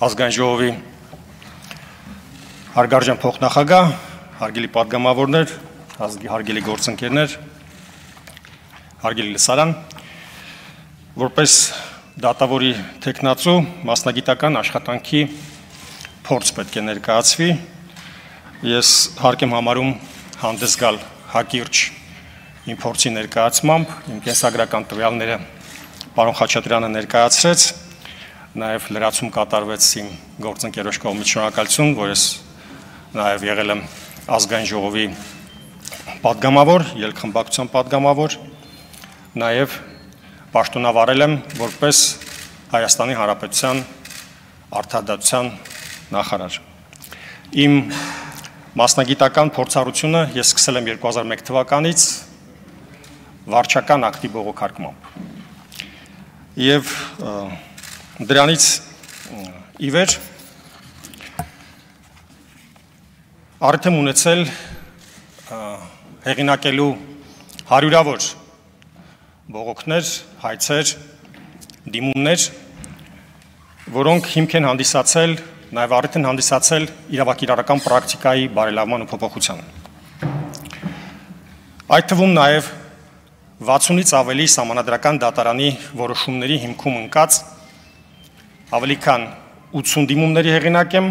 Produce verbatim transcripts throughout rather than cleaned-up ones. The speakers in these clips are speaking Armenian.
ազգային ժողովի հարգարժան փոխնախագահ, հարգելի պատգամավորներ, հարգելի գործընկերներ, հարգելի լսարան, որպես դատավորի թեկնածու մասնագիտական աշխատանքի փորձ պետք է ներկայացվի, ես հարկ եմ համարում հանդես գալ հակիրճ իմ փորձի ներկայացմամբ, իմ կենսագրական տվյալները պարոն Խաչատրյանը ներկայացրեց, նաև լրացում կատարվեց իմ գործընկերոջ կողմից շնորհակալություն, որ ես նաև եղել եմ ազգային ժողովի պատգամավոր, ելքխմբակցության պատգամավոր, նաև պաշտոնավարել եմ որպես Հայաստանի Հանրապետության արդարադատության նախարար։ Իմ մասնագիտական փորձառությունը ես սկսել եմ երկու հազար մեկ թվականից վարչական ակտի բողոքարկմամբ։ Եվ դրանից ի վեր առիթ եմ ունեցել հեղինակելու հարյուրավոր բողոքներ, հայցեր, դիմումներ, որոնք հիմք են հանդիսացել, նաև առիթ են հանդիսացել իրավակիրառական պրակտիկայի բարելավման ու փոփոխության։ Այդ թվում նաև վաթսունից ավելի սահմանադրական դատարանի որոշումների հիմքում ընկած ավելի քան ութսուն դիմումների հեղինակ եմ,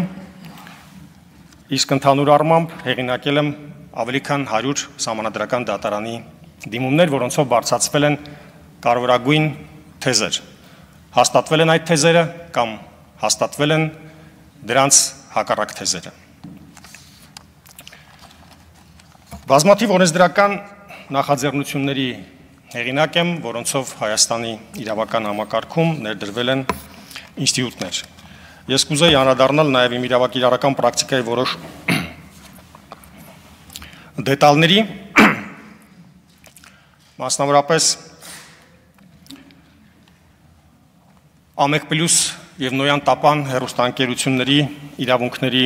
իսկ ընդհանուր առմամբ հեղինակել եմ ավելի քան հարյուր սահմանադրական դատարանի դիմումներ, որոնցով բարձրացվել են կարևորագույն թեզեր։ Հաստատվել են այդ թեզերը կամ հաստատվել են դրանց հակառակ թեզերը։ Բազմաթիվ օրենսդրական նախաձեռնությունների հեղինակ եմ, որոնցով Հայաստանի իրավական համակարգում ներդրվել են ինստիտուտներ։ Ես կուզեի անդրադառնալ նաև իմ իրավակիրառական պրակտիկայի որոշ դետալների, մասնավորապես Ամեկ պլյուս և Նոյան Տապան հեռուստաընկերությունների իրավունքների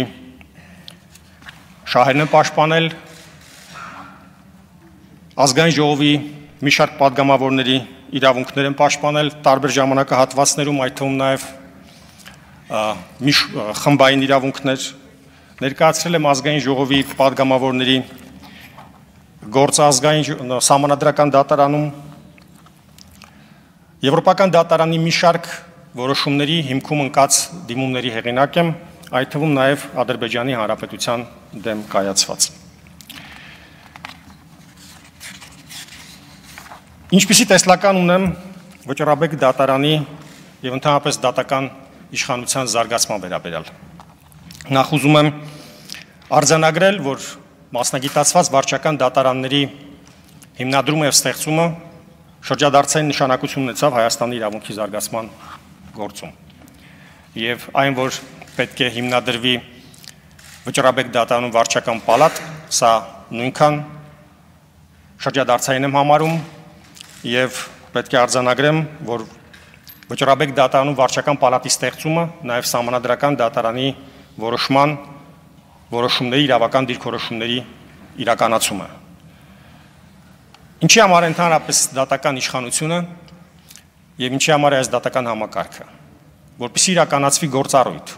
շահերն են պաշտպանել, ազգային ժողովի մի շարք պատգամավորների իրավունքներ են պաշտպանել տարբեր ժամանակահատվածներում, այդ թվում նաև մի խմբային իրավունքներ, ներկայացրել եմ ազգային ժողովի պատգամավորների գործը ազգային սահմանադրական դատարանում, Եվրոպական դատարանի մի շարք որոշումների հիմքում ընկած դիմումների հեղինակ եմ, այդ թվում նաև Ադրբեջանի Հանրապետության դեմ կայացված։ Ինչպիսի տեսլական ունեմ Վճռաբեկ դատարանի և ընդհանրապես դատական իշխանության զարգացման վերաբերյալ։ Նախ ուզում եմ արձանագրել, որ մասնագիտացված վարչական դատարանների հիմնադրումը և ստեղծումը շրջադարձային նշանակություն ունեցավ Հայաստանի իրավունքի զարգացման գործում։ Եվ այն, որ պետք է հիմնադրվի Վճռաբեկ դատարանում վարչական պալատ, սա նույնքան շրջադարձային եմ համարում և պետք է արձանագրեմ, որ Վճռաբեկ դատարանում վարչական պալատի ստեղծումը նաև սահմանադրական դատարանի որոշման որոշումների, իրավական դիրքորոշումների իրականացումը։ Ինչի համար ընդհանրապես դատական իշխանությունը և ինչի համար է այս դատական համակարգը, որպեսզի իրականացվի գործառույթ,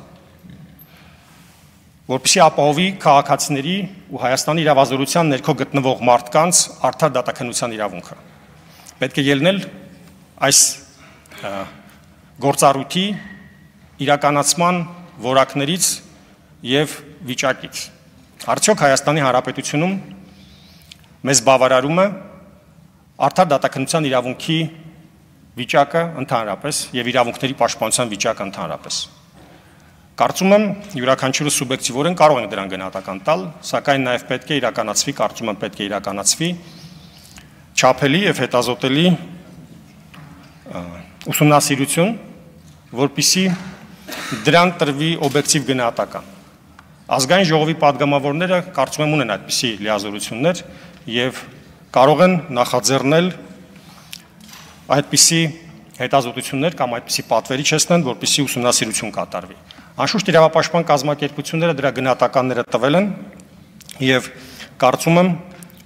որպեսզի ապահովի քաղաքացիների ու Հայաստանի իրավազորության ներքո գտնվող մարդկանց արդար դատաքննության իրավունքը։ Պետք է ելնել այս գործառույթի իրականացման որակներից և վիճակից։ Արդյոք Հայաստանի Հանրապետությունում մեզ բավարարում է արդար դատաքննության իրավունքի վիճակը ընդհանրապես և իրավունքների պաշտպանության վիճակը ընդհանրապես։ Կարծում եմ յուրաքանչյուրը սուբյեկտիվորեն կարող ենք դրան գնահատական տալ, սակայն նաև պետք է իրականացվի, կարծում եմ պետք է իրականացվի չափելի և հետազոտելի ուսումնասիրություն, որպեսզի դրան տրվի օբյեկտիվ գնահատական։ Ազգային ժողովի պատգամավորները կարծում եմ ունեն այդպիսի լիազորություններ և կարող են նախաձեռնել այդպիսի հետազոտություններ կամ այդպիսի պատվերի չեսնեն, որպեսզի ուսումնասիրություն կատարվի։ Անշուշտ իրավապաշտպան կազմակերպությունները դրա գնահատականները տվել են և կարծում եմ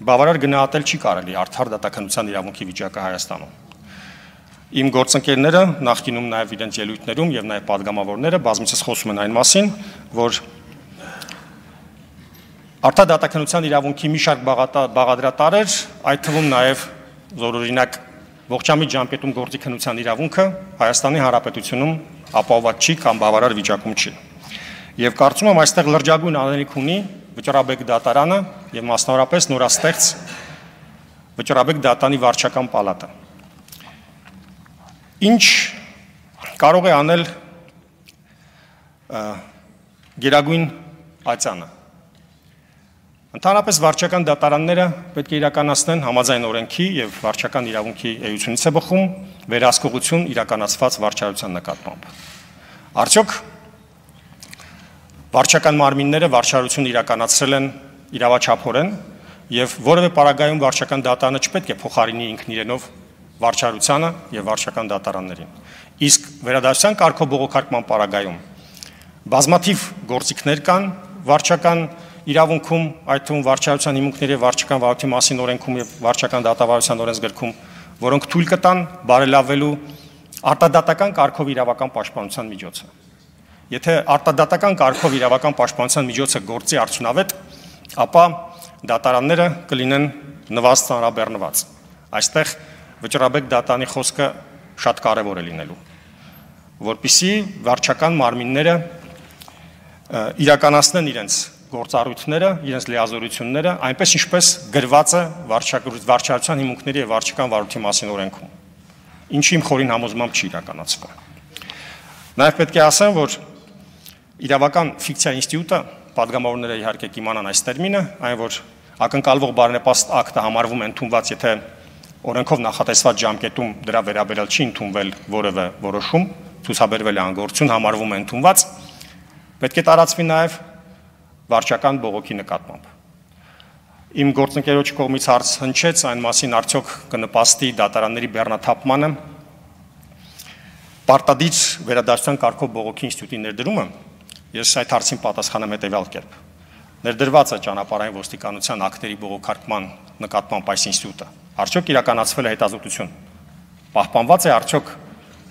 բավարար գնահատել չի կարելի արդար դատաքննության իրավունքի վիճակը Հայաստանում։ Իմ գործընկերները նախկինում նաև իրենց ելույթներում եւ նաև падգամավորները բազմիցս խոսում են այն մասին, որ արտադատականության իրավունքի մի շարք բաղադրատարեր, այդ թվում նաև զորօրինակ ողջամիտ ժամկետում գործի քննության իրավունքը Հայաստանի Հանրապետությունում ապահովված չի կամ բավարար վիճակում չի։ Եվ կարծում եմ այստեղ լրջագույն անելիք ունի Վճռաբեկ դատարանը եւ մասնավորապես նորաստեղծ Վճռաբեկ դատարանի վարչական պալատը։ Ինչ կարող է անել գերագույն ացանը։ Ընդհանրապես վարչական դատարանները պետք է իրականացնեն համաձայն օրենքի եւ վարչական իրավունքի էությունից է բխում վերահսկողություն իրականացված վարչարության նկատմամբ։ Արդյոք վարչական մարմինները վարչարություն իրականացրել են իրավաչափորեն եւ որևէ պարագայում վարչական դատարանը չպետք է փոխարինի ինքն իրենով վարչարությանը եւ վարչական դատարաններին։ Իսկ վերադասության կարգով-բողոքարկման պարագայում բազմաթիվ գործիքներ կան վարչական իրավունքում, այդ թվում վարչարության հիմունքների եւ վարչական վարույթի մասին օրենքում եւ վարչական դատավարության օրենսգրքում, որոնք թույլ կտան բարելավելու արտադատական կարգով իրավական պաշտպանության միջոցը։ Եթե արտադատական կարգով իրավական պաշտպանության միջոցը գործի արդյունավետ, ապա դատարանները կլինեն նվազ ծանրաբեռնված։ Այստեղ Վճռաբեկ դատարանի խոսքը շատ կարևոր է լինելու, որպեսզի վարչական մարմինները իրականացնեն իրենց գործառույթները, իրենց լիազորությունները, այնպես ինչպես գրված է վարչարության հիմունքների եւ վարչական վարույթի մասին օրենքում, ինչի իմ խորին համոզմամբ չի իրականացվում։ Նաեւ պետք է ասեմ, որ իրավական ֆիկցիա ինստիտուտը, падգամավորները իհարկե կիմանան այս տերմինը, այն որ ակնկալվող բարենպաստ ակտը համարվում է ընդունված, եթե օրենքով նախատեսված ժամկետում դրա վերաբերյալ չի ընդունվել որևէ որոշում, ցուցաբերվել է անգործություն, համարվում է ընդունված, պետք է տարածվի նաեւ վարչական բողոքի նկատմամբ։ Իմ գործընկերոջ կողմից հարց հնչեց այն մասին, արդյոք կնպաստի դատարանների բեռնաթափմանը պարտադիր վերադասության կարգով բողոքի ինստիտուտի ներդրումը։ Ես այդ հարցին պատասխանեմ հետևյալ կերպ։ Ներդրված է ճանապարհային ոստիկանության ակտերի բողոքարկման նկատմամբ այս ինստիտուտը։ Արդյոք իրականացվել է հետազոտություն։ Պահպանված է արդյոք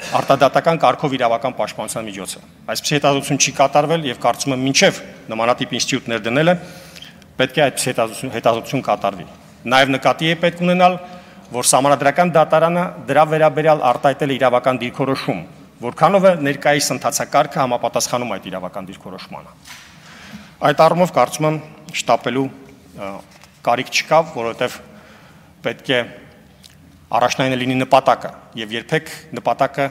արտադատական կարգով իրավական պաշտպանության միջոցը։ Այսպիսի հետազոտություն չի կատարվել եւ կարծում եմ մինչեւ նմանատիպ ինստիտուտ ներդնելը պետք է այդ հետազոտություն կատարվի։ Նաեւ նկատի է պետք ունենալ, որ Սահմանադրական դատարանը դրա վերաբերյալ արտահայտել է իրավական դիրքորոշում, որքանով է ներկայիս ընթացակարգը համապատասխանում այդ իրավական դիրքորոշմանը։ Այդ առումով կարծում եմ շտապելու կարիք չկա, որովհետեւ պետք է առաջնային լինի նպատակը եւ երբեք նպատակը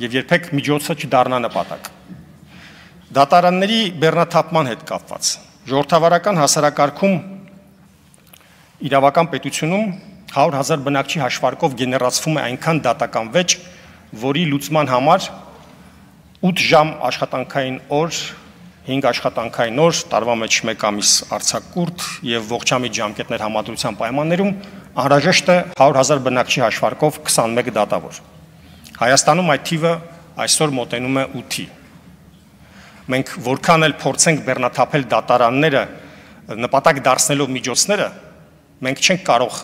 եւ երբեք միջոցը չդառնա նպատակ։ Դատարանների բեռնաթափման հետ կապված ժողովրդավարական հասարակարգում իրավական պետությունում հարյուր հազար բնակչի հաշվարկով գեներացվում է այնքան դատական վեճ, որի լուծման համար ութ ժամ աշխատանքային օր, հինգ աշխատանքային օր, տարվա մեջ մեկ ամիս արձակուրդ եւ ողջամիտ ժամկետներ համադրության պայմաններում անհրաժեշտ է հարյուր հազար բնակչի հաշվարկով քսանմեկ դատավոր։ Հայաստանում այդ թիվը այսօր մոտենում է ութի։ Մենք որքան էլ փորձենք բեռնաթափել դատարանները նպատակ դարձնելով միջոցները, մենք չենք կարող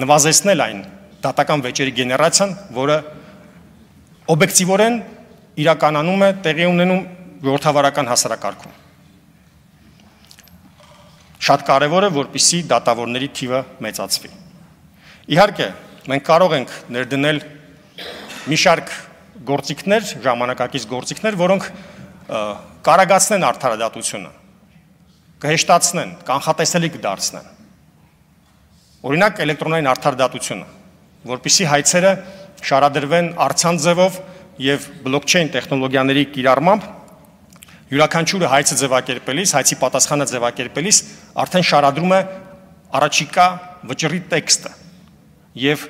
նվազեցնել այն դատական վեճերի գեներացիան, որը օբյեկտիվորեն իրականանում է տեղի ունենում ժողովրդավարական հասարակարգում։ Շատ կարևոր է, որպեսզի դատավորների թիվը մեծացվի։ Իհարկե, մենք կարող ենք ներդնել մի շարք գործիքներ, ժամանակակից գործիքներ, որոնք կարագացնեն արդարադատությունը, կհեշտացնեն, կանխատեսելի կդարձնեն։ Օրինակ էլեկտրոնային արդարադատությունը, որպեսզի հայցերը շարադրվեն առցանց ձևով եւ բլոկչեյն տեխնոլոգիաների կիրառմամբ յուրաքանչյուրը հայցը ձևակերպելիս, հայցի պատասխանը ձևակերպելիս արդեն շարադրում է առաջիկա վճռի տեքստը եւ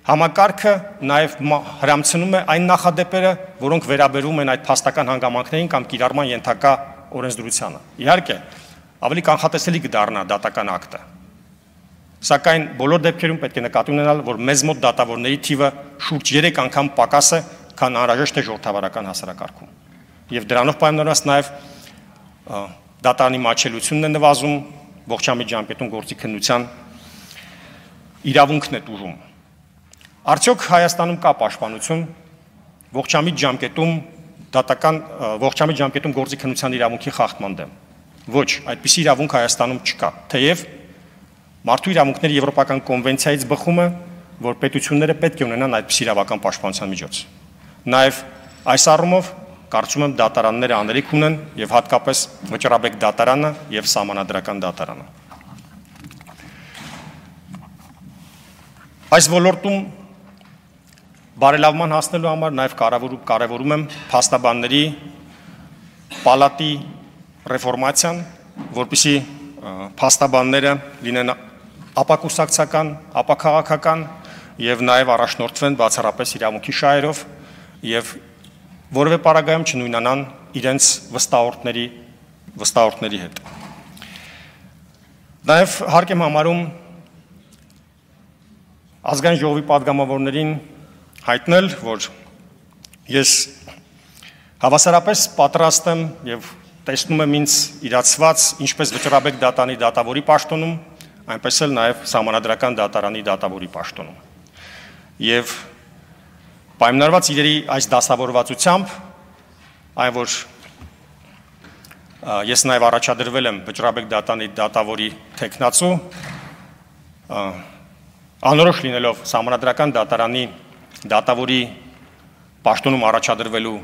համակարգը նաեւ հրամցնում է այն նախադեպերը, որոնք վերաբերում են այդ փաստական հանգամանքներին կամ կիրառման ենթակա օրենսդրությանը։ Իհարկե, ավելի կանխատեսելի կդառնա դատական ակտը։ Սակայն բոլոր դեպքերում պետք է նկատի ունենալ, որ մեզ մոտ դատավորների թիվը շուրջ երեք անգամ պակաս է, քան անհրաժեշտ է ժողովրդավարական հասարակարգում։ Եվ դրանով պայմանավորված նաև դատարանի մատչելությունն է նվազում, ողջամիտ ժամկետում գործի քննության իրավունքն է տուժում։ Արդյոք Հայաստանում կա պաշտպանություն ողջամիտ ժամկետում դատական ողջամիտ ժամկետում գործի քննության իրավունքի խախտման դեմ։ Ոչ, այդպիսի իրավունք Հայաստանում չկա, թեև Մարդու իրավունքների Եվրոպական կոնվենցիայից բխում է, որ պետությունները պետք է ունենան այդպիսի իրավական պաշտպանության միջոց։ Նաև այս առումով կարծում եմ դատարանները աներիք ունեն եւ հատկապես Վճռաբեկ դատարանը եւ Սահմանադրական դատարանը։ Այս ոլորտում բարելավման հասնելու համար նաև կարևորում եմ փաստաբանների պալատի ռեֆորմացիան, որպեսզի փաստաբանները լինեն ապակուսակցական, ապաքաղաքական եւ նաև առաջնորդվեն բացառապես իրավունքի շահերով եւ որևէ պարագայում չնույնանան իրենց վստահորդների վստահորդների հետ։ Նաև հարկ եմ համարում ազգային ժողովի պատգամավորներին հայտնել, որ ես հավասարապես պատրաստ եմ եւ տեսնում եմ ինձ իրացված ինչպես Վճռաբեկ դատանի դատավորի պաշտոնում, այնպես էլ նաեւ Սահմանադրական դատարանի դատավորի պաշտոնում։ Եվ պայմանավորված իրերի այս դասավորվածությամբ, այն որ ես նաեւ առաջադրվել եմ Վճռաբեկ դատանի դատավորի թեկնածու, անորոշ լինելով Սահմանադրական դատարանի դատավորի պաշտոնում առաջադրվելու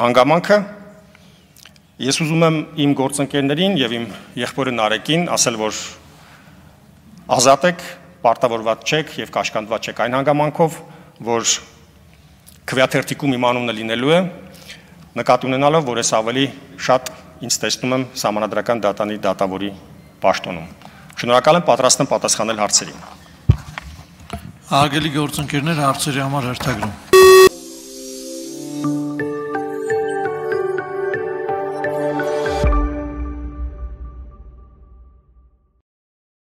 հանգամանքը, ես ուզում եմ իմ գործընկերներին եւ իմ եղբորը Նարեկին ասել, որ ազատ եք, պարտավորված չեք եւ կաշկանդված չեք այն հանգամանքով, որ քվեաթերթիկում իմ անունը լինելու է, նկատի ունենալով, որ ես ավելի շատ ինձ տեսնում եմ Սահմանադրական դատանի դատավորի պաշտոնում։ Շնորհակալ եմ, պատրաստ եմ պատասխանել հարցերին։ Արգելի գործընկերներ, հարցերի համար հերթագրում։